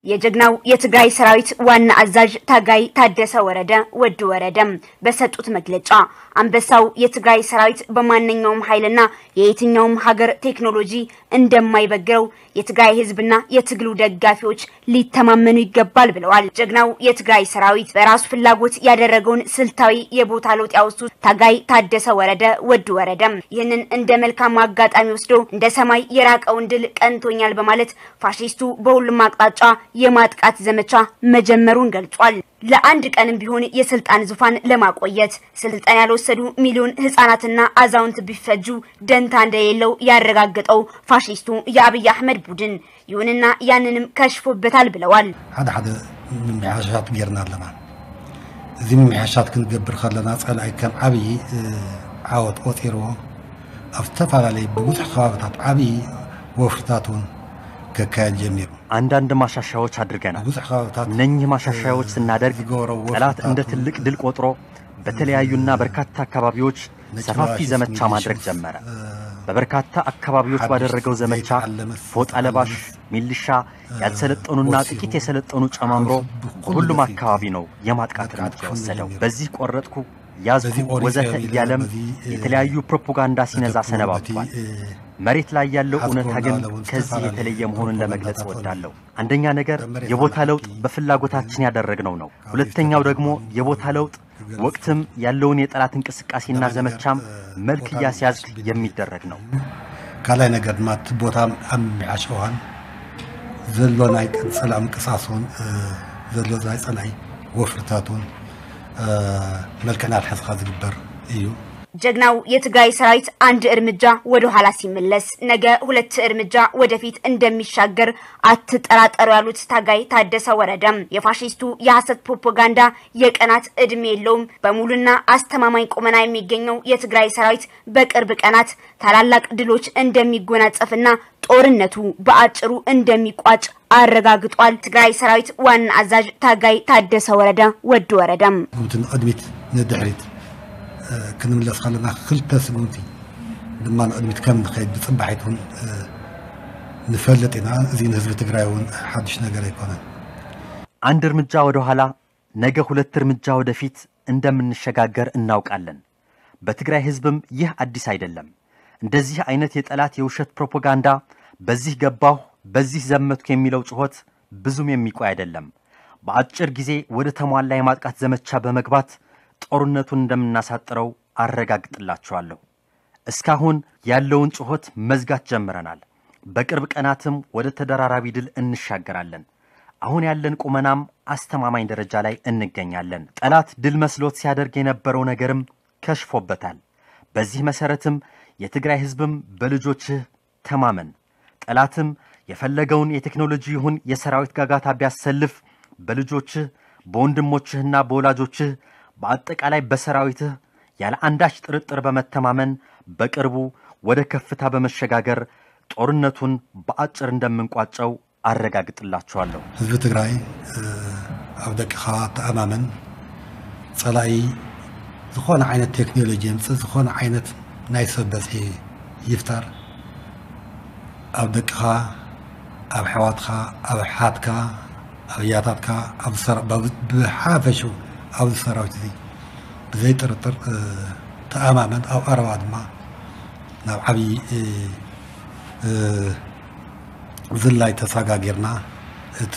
የጀግናው የትግራይ ሰራዊት ዋና አዛዥ ታጋይ ታደሰ ወረደ፣ ወዲ ወረደ፣ በሰጡት መግለጫ፣ አንበሳው የትግራይ ሰራዊት በማንኛውም ኃይልና የየትኛውም ሀገር ቴክኖሎጂ እንደማይበግረው የትግራይ ህዝብና የትግሉ ደጋፊዎች ሊተማመኑ ይገባል ብለዋል። ጀግናው የትግራይ ሰራዊት በራሱ ፍላጎት ያደረገውን ስልታዊ የቦታ ለውጥ ያወሱት ታጋይ ታደሰ ወረደ፣ ወዲ ወረደ፣ ይህንን እንደ መልካም አጋጣሚ ወስዶ እንደ ሰማይ የራቀውን ድል ቀንቶኛል በማለት ፋሽስቱ በሁሉም አቅጣጫ የማጥቃት ዘመቻ መጀመሩን ገልጿል። ለአንድ ቀንም ቢሆን የስልጣን ዙፋን ለማቆየት ስልጣን ያልወሰዱ ሚሊዮን ህፃናትና አዛውንት ቢፈጁ ደንታ እንደሌለው ያረጋገጠው ፋሽስቱ የአብይ አህመድ ቡድን፣ ይሁንና ያንንም ከሽፎበታል ብለዋል። ሓደ ሓደ ምምሕያሻት ጌርና ኣለና። እዚ ምምሕያሻት ክንገብር ከለና ጸላኢ ከም ዓብዪ ዓወት ቆጺርዎ ኣብ ዝተፈላለዩ ብብዙሕ ከባብታት ዓብዪ ወፍርታት እውን ከካየድ ጀሚሩ። አንዳንድ ማሻሻያዎች አድርገናል። ብዙሕ ከባብታት እነኚህ ማሻሻያዎች ስናደርግ ጠላት እንደ ትልቅ ድል ቆጥሮ በተለያዩና በርካታ አካባቢዎች ሰፋፊ ዘመቻ ማድረግ ጀመረ። በበርካታ አካባቢዎች ባደረገው ዘመቻ ፎጣ ለባሽ ሚሊሻ፣ ያልሰለጠኑና ጥቂት የሰለጠኑ ጨማምሮ በሁሉም አካባቢ ነው የማጥቃት እርምጃ የወሰደው። በዚህ ቆረጥኩ፣ ያዝኩ፣ ወዘተ እያለም የተለያዩ ፕሮፓጋንዳ ሲነዛ ሰነባብቷል። መሬት ላይ ያለው እውነታ ግን ከዚህ የተለየ መሆኑን ለመግለጽ እወዳለሁ። አንደኛ ነገር የቦታ ለውጥ በፍላጎታችን ያደረግነው ነው። ሁለተኛው ደግሞ የቦታ ለውጥ ወቅትም ያለውን የጠላት እንቅስቃሴና ዘመቻም መልክ እያስያዝ የሚደረግ ነው። ካልኣይ ነገር ድማ እቲ ቦታ ኣብ ምምሕያሽ እዋን ዘሎ ናይ ጸላኢ ምንቅስቃስ እውን፣ እ፣ ዘሎ ናይ ጸላኢ ወፍርታት እውን፣ እ፣ መልክዕ እናትሓዝካ ዝግበር እዩ። ጀግናው የትግራይ ሰራዊት አንድ እርምጃ ወደ ኋላ ሲመለስ ነገ ሁለት እርምጃ ወደፊት እንደሚሻገር አትጠራጠሩ ያሉት ታጋይ ታደሰ ወረደ፣ የፋሽስቱ የሐሰት ፕሮፓጋንዳ የቀናት እድሜ የለውም። በሙሉና አስተማማኝ ቁመና የሚገኘው የትግራይ ሰራዊት በቅርብ ቀናት ታላላቅ ድሎች እንደሚጎናጸፍና ጦርነቱ በአጭሩ እንደሚቋጭ አረጋግጧል። ትግራይ ሰራዊት ዋና አዛዥ ታጋይ ታደሰ ወረደ፣ ወዲ ወረደ። ከምቲ ንቕድሚት ንድሕሪት፣ እ፣ ክንምለስ ከለና ክልተ ስጉምቲ ድማ ንቕድሚት ከም ንኸይድ ብጽባሒት እውን፣ እ፣ ንፈልጥ ኢና። እዚ ንህዝቢ ትግራይ እውን ሓድሽ ነገር ኣይኮነን። አንድ እርምጃ ወደ ኋላ፣ ነገ ሁለት እርምጃ ወደፊት እንደምንሸጋገር እናውቃለን። በትግራይ ህዝብም ይህ አዲስ አይደለም። እንደዚህ አይነት የጠላት የውሸት ፕሮፓጋንዳ፣ በዚህ ገባሁ፣ በዚህ ዘመትኩ የሚለው ጩኸት ብዙም የሚቆይ አይደለም። በአጭር ጊዜ ወደ ተሟላ የማጥቃት ዘመቻ በመግባት ጦርነቱን እንደምናሳጥረው አረጋግጥላችኋለሁ። እስካሁን ያለውን ጩኸት መዝጋት ጀምረናል። በቅርብ ቀናትም ወደ ተደራራቢ ድል እንሻገራለን። አሁን ያለን ቁመናም አስተማማኝ ደረጃ ላይ እንገኛለን። ጠላት ድል መስሎት ሲያደርግ የነበረው ነገርም ከሽፎበታል። በዚህ መሰረትም የትግራይ ህዝብም በልጆችህ ተማመን። ጠላትም የፈለገውን የቴክኖሎጂ ይሁን የሰራዊት ጋጋታ ቢያሰልፍ በልጆችህ፣ በወንድሞችህና በወላጆችህ፣ በአጠቃላይ በሰራዊትህ ያለ አንዳች ጥርጥር በመተማመን በቅርቡ ወደ ከፍታ በመሸጋገር ጦርነቱን በአጭር እንደምንቋጨው አረጋግጥላችኋለሁ። ህዝቢ ትግራይ፣ እ፣ ኣብ ደቅኻ ተኣማመን። ጸላኢ ዝኾነ ዓይነት ቴክኖሎጂ የምጽእ፣ ዝኾነ ዓይነት ናይ ሰብ በዝሒ ይፍጠር፣ ኣብ ደቅኻ፣ ኣብ ኣሕዋትካ፣ ኣብ ኣሓትካ፣ ኣብ ኣያታትካ፣ ኣብ ሰራ-፣ ብ-፣ ብሓፈሽኡ ኣብዚ ሰራዊት እዚ ብዘይ ጥርጥር፣ እ፣ ተኣማመን። ኣብ ቀረባ ድማ ናብ ዓብዪ፣ እ፣ እ፣ ዝላይ ተሰጋጊርና እቲ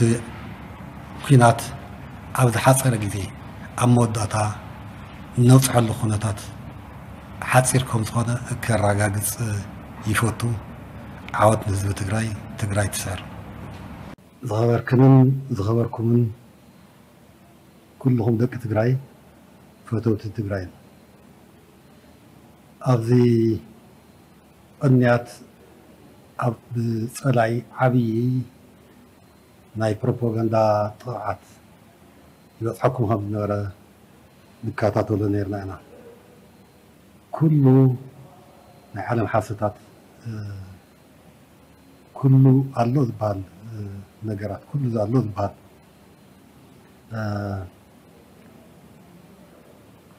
ኲናት ኣብ ዝሓጸረ ግዜ ኣብ መወዳእታ እነብጽሐሉ ኩነታት ሓጺር ከም ዝኾነ ከረጋግጽ ይፈቱ። ዓወት ንህዝቢ ትግራይ። ትግራይ ትስዕር። ዝኸበርክንን ዝኸበርኩምን ኩልኹም ደቂ ትግራይ፣ ፈተውቲ ትግራይ፣ ኣብዚ ቅንያት ኣብ ጸላኢ ዓብዪ ናይ ፕሮፓጋንዳ ጥቕዓት ይበጽሐኩም ከም ዝነበረ ንከታተሎ ነይርና ኢና። ኩሉ ናይ ዓለም ሓሰታት፣ እ፣ ኩሉ ኣሎ ዝበሃል፣ እ፣ ነገራት፣ ኩሉ ኣሎ ዝበሃል፣ እ፣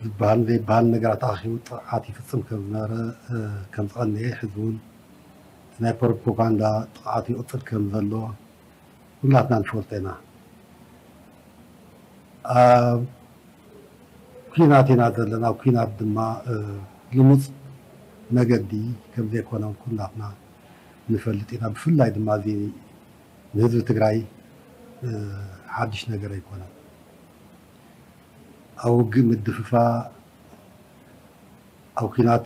ዝበሃል ዘይበሃል ነገራት ኣኺቡ ጥቕዓት ይፍጽም ከም ዝነበረ፣ እ፣ ከም ዝቐነየ፣ ሕዚ እውን ናይ ፕሮፓጋንዳ ጥቕዓት ይቕጽል ከም ዘሎ፣ ኩላትና ንፈልጦ ኢና። ኣብ ኲናት ኢና ዘለና። ኣብ ኲናት ድማ ልሙፅ መገዲ ከም ዘይኮነ ኩላትና ንፈልጥ ኢና። ብፍላይ ድማ እዚ ንህዝቢ ትግራይ ሓድሽ ነገር ኣይኮነን። ኣብ ውግእ ምድፍፋ፣ ኣብ ኲናት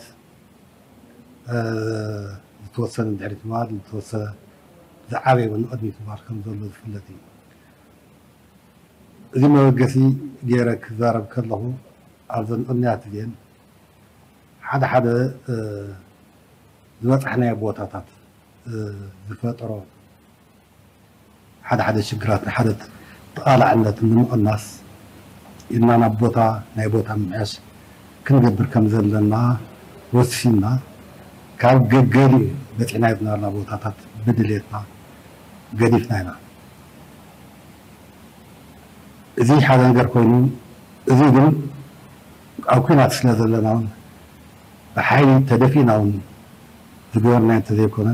ዝተወሰነ ድሕሪት ምባል፣ ዝተወሰነ ዝዓበየ እውን ንቕድሚት ምባል ከም ዘሎ ዝፍለጥ እዩ። እዚ መበገሲ ገይረ ክዛረብ ከለኹ ኣብዘን ቅንያት እዚአን ሓደ ሓደ ዝበፃሕናዮ ቦታታት ዝፈጠሮ ሓደ ሓደ ሽግራት ንሓደ ተቓላዕነት ንምቕናስ ኢልና ናብ ቦታ ናይ ቦታ ምምሕያሽ ክንገብር ከም ዘለና ወሲንና ካብ ገገሊኡ በፂሕናዮ ዝነበርና ቦታታት ብድሌትና ገዲፍና ኢና። እዚ ሓደ ነገር ኮይኑ እዚ ግን ኣብ ኲናት ስለ ዘለና እውን ብሓይሊ ተደፊእና እውን ዝገበርናዮ እንተዘይኮነ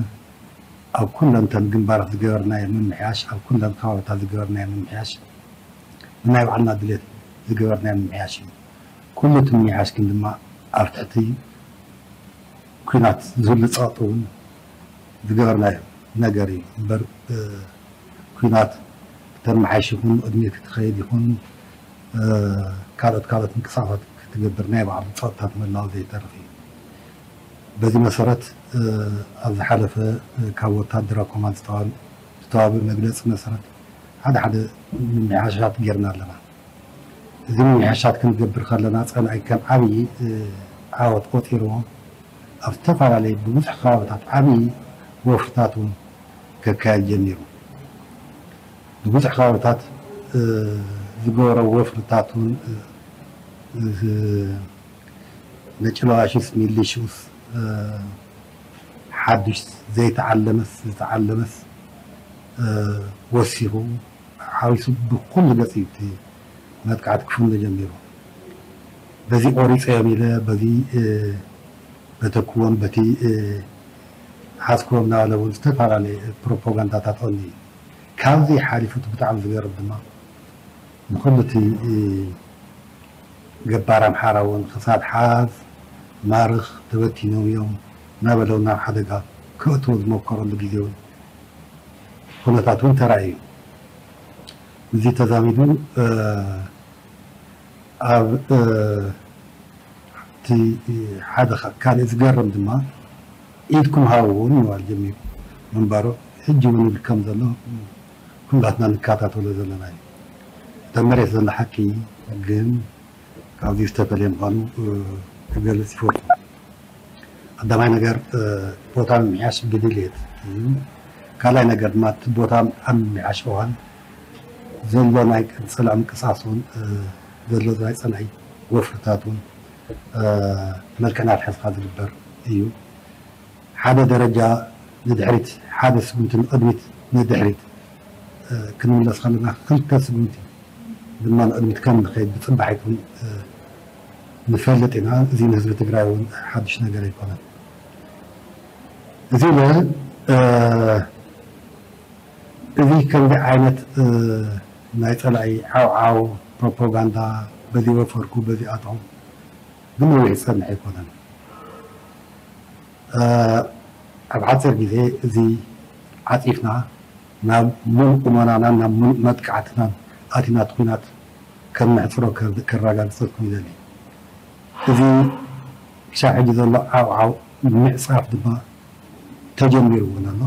ኣብ ኩለን እተን ግንባራት ዝገበርናዮ ምምሕያሽ ኣብ ኩለን ከባብታት ዝገበርናዮ ምምሕያሽ ብናይ ባዕልና ድሌት ዝገበርናዮ ምምሕያሽ እዩ። ኩሉ እቲ ምምሕያሽ ግን ድማ ኣብ ትሕቲ ኲናት ዝህሉ ፀቕጢ እውን ዝገበርናዮ ነገር እዩ እምበር ኲናት ክተመሓይሽ ይኹን ቅድሚ ክትኸይድ ይኹን ካልኦት ካልኦት ምንቅስቃሳት ክትገብር ናይ ባዕሉ ፀቕጥታት ምህላው ዘይተርፍ እዩ። በዚ መሰረት ኣብ ዝሓለፈ ካብ ወታደራዊ ኮማንድ ዝተዋህበ መግለፂ መሰረት ሓደ ሓደ ምምሕያሻት ጌርና ኣለና። እዚ ምምሕያሻት ክንገብር ከለና ፀላኢ ከም ዓብዪ ዓወት ቆፂርዎ ኣብ ዝተፈላለዩ ብብዙሕ ከባብታት ዓብዪ ወፍርታት እውን ከካየድ ጀሚሩ። ብብዙሕ ከባብታት ዝገበሮ ወፍርታት እውን ነጭለዋሽስ ሚሊሽስ ሓዱሽ ዘይተዓለመስ ዝተዓለመስ ወሲኹ ሓዊሱ ብኩሉ ገፂ እቲ መጥቃዕቲ ክፍነ ጀሚሩ። በዚ ቆሪፀዮም ኢለ በዚ በተክዎም በቲ ሓዝክዎም እናበለ እውን ዝተፈላለየ ፕሮፓጋንዳታት ቐኒ እዩ። ካብዚ ሓሊፉ እቲ ብጣዕሚ ዝገርም ድማ ንኩሉ እቲ ገባር ኣምሓራ እውን ክሳድ ሓዝ ማርኽ ተበቲኖም እዮም እናበለ እውን ናብ ሓደጋ ከእትዎ ዝመከረሉ ግዜ እውን ኩነታት እውን ተራእዩ። እዚ ተዛሚዱ ኣብ እቲ ሓደ ካልእ ዝገርም ድማ ኢድኩም ሃብዎ ንምባል ጀሚሩ ምንባሩ ሕጂ እውን ይብል ከም ዘሎ ኩላትና ንከታተሎ ዘለና እዩ። እታ መሬት ዘሎ ሓቂ ግን ካብዚ ዝተፈለየ ምዃኑ ክገልጽ ይፈቱ። ቀዳማይ ነገር ቦታ ምምሕያሽ ብድልየት እዩ። ካልኣይ ነገር ድማ እቲ ቦታ ኣብ ምምሕያሽ እዋን ዘሎ ናይ ፀላኢ ምንቅስቃስ እውን ዘሎ ናይ ፀላኢ ወፍርታት እውን መልክዕ እናትሓዝካ ዝግበር እዩ። ሓደ ደረጃ ንድሕሪት ሓደ ስጉምቲ ንቕድሚት ንድሕሪት ክንምለስ ከለና ክልተ ስጉምቲ ድማ ንቕድሚት ከም ንኸይድ ብፅባሒት እውን ንፈልጥ ኢና። እዚ ንህዝቢ ትግራይ እውን ሓዱሽ ነገር ኣይኮነን። እዚ ኢለ እዚ ከምዚ ዓይነት ናይ ፀላኢ ዓውዓው ፕሮፓጋንዳ በዚ ወፈርኩ በዚ ኣትኹ ብነዊሕ ዝፀንሕ ኣይኮነን። ኣብ ሓፂር ግዜ እዚ ዓፂፍና ናብ ሙሉእ ቁመናናን ናብ ሙሉእ መጥቃዕትናን ኣቲና እቲ ኲናት ከም ነሕፅሮ ከረጋግፀልኩም ይደሊ። እዚ ክሻብ ሕጂ ዘሎ ዓውዓው ምዕፃፍ ድማ ተጀሚሩ እውን ኣሎ።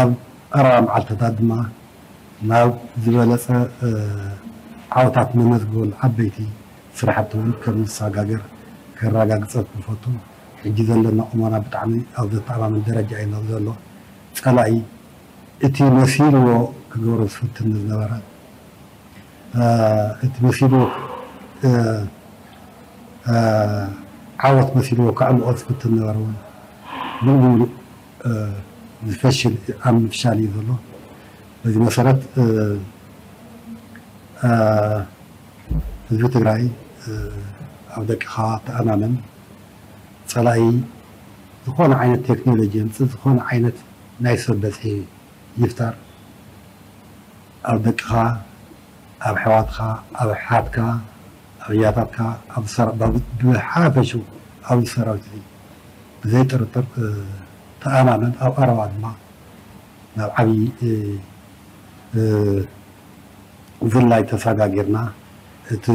ኣብ ቀረባ መዓልትታት ድማ ናብ ዝበለፀ ዓወታት ነመዝግበሉ ዓበይቲ ስራሕቲ እውን ከም ንሰጋገር ከረጋግፀልኩም ይፈቱ። ሕጂ ዘለና ቁመና ብጣዕሚ ኣብ ዘተኣማምን ደረጃ እዩ ዘሎ። ፀላኢ እቲ መሲልዎ ክገብሮ ዝፍትን ዝነበረ እቲ መሲልዎ ዓወት መሲልዎ ከዕምቆ ዝፍትን ነበረ እውን ሙሉእ ብሙሉእ ዝፈሽል ኣብ ምፍሻል እዩ ዘሎ። በዚ መሰረት ህዝቢ ትግራይ ኣብ ደቅኻ ተኣማመን። ፀላኢ ዝኾነ ዓይነት ቴክኖሎጂ የምፅእ፣ ዝኾነ ዓይነት ናይ ሰብ በዝሒ ይፍጠር፣ ኣብ ደቅኻ፣ ኣብ ኣሕዋትካ፣ ኣብ ኣሓትካ፣ ኣብ ኣያታትካ፣ ኣብ ሰራ-፣ ኣብ፣ ብሓፈሽኡ ኣብዚ ሰራዊት እዚ ብዘይ ጥርጥር፣ እ፣ ተኣማመን፣ ኣብ ቀረባ ድማ ናብ ዓብዪ፣ እ፣ እ፣ ዝላይ ተሰጋጊርና እቲ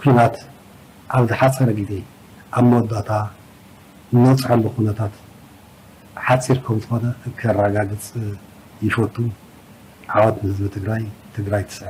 ኲናት ኣብ ዝሓጸረ ግዜ ኣብ መወዳእታ እንበጽሐሉ ኩነታት ሓጺር ከም ዝኾነ ከረጋግጽ ይፈቱ። ዓወት ንህዝቢ ትግራይ። ትግራይ ትስዕር።